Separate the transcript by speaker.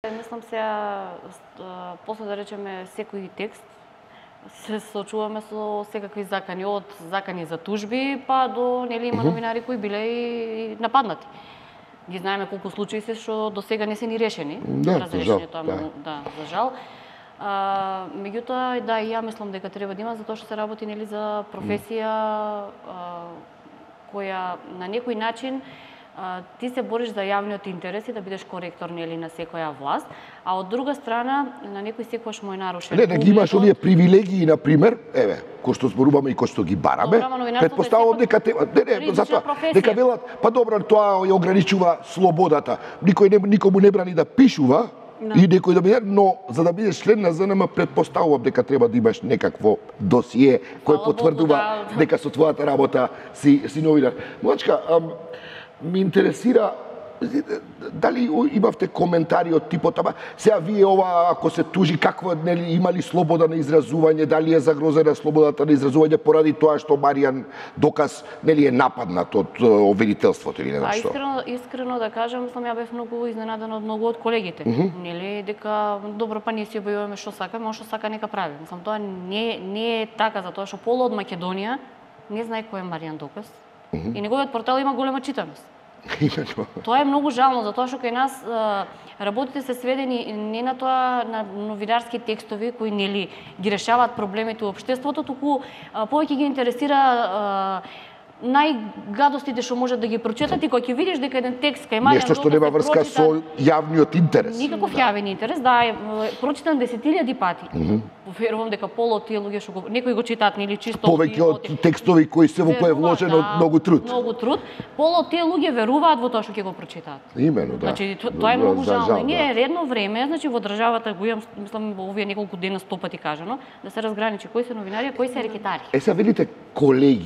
Speaker 1: Мислам после да речеме секој текст, се соочуваме со секакви закани, од закани за тужби, па до има новинари кои биле и нападнати. Ги знаеме колку случаи се што до сега не се ни решени.
Speaker 2: Разрешени
Speaker 1: тоа за жал. Меѓутоа, и ја мислам дека треба да има, затоа што се работи за професија која на некој начин ти се бориш за јавниот интерес и да бидеш коректор на секоја власт, а од друга страна на некој секогаш му е нарушен.
Speaker 2: Не ги имаш овие привилегии, на пример, кој што зборуваме и кој што ги бараме, претпоставувам дека затоа дека велат, па добро, тоа ја ограничува слободата. Никому не брани да пишува, и некој да биде, но за да бидеш член на ЗНМ претпоставувам дека треба да имаш некакво досие кој потврдува дека со твојата работа си новинар. Млачка, ми интересира дали имавте коментари од типот, сега вие ова ако се тужи какво има ли слобода на изразување, дали е загрозена слободата на изразување поради тоа што Маријан Доказ е нападнат од обвинителството или не што?
Speaker 1: Искрено да кажам, ја бев многу изненадана од многу од колегите. Дека добро, па ние си објавуваме што сакаме, што сака нека прави. Тоа не е така, затоа што пола од Македонија не знае кој е Маријан Доказ. И неговиот портал има голема читаност. Тоа е многу жално, затоа што кај нас работите се сведени не на тоа на новинарски текстови кои ги решаваат проблемите во општеството, туку повеќе ги интересира најгадостите што можат да ги прочитат и кога ќе видиш дека еден текст кај Маријан Доказ
Speaker 2: нешто што нема врска со јавниот интерес.
Speaker 1: Никаков јавен интерес, е прочитан 10.000 пати. Верувам дека пола од тие луѓе што некои го читаат чисто
Speaker 2: повеќе од текстови кои се во кои е вложено многу труд.
Speaker 1: Многу труд. Пола од тие луѓе веруваат во тоа што ќе го прочитаат.
Speaker 2: Имено, да.
Speaker 1: Тоа е многу жално. Ние редно време, во државата го имам, мислам во овие неколку дена 100 пати кажано, да се разграничи кои се новинари, а кои се рекетари.
Speaker 2: Сега велите колеги,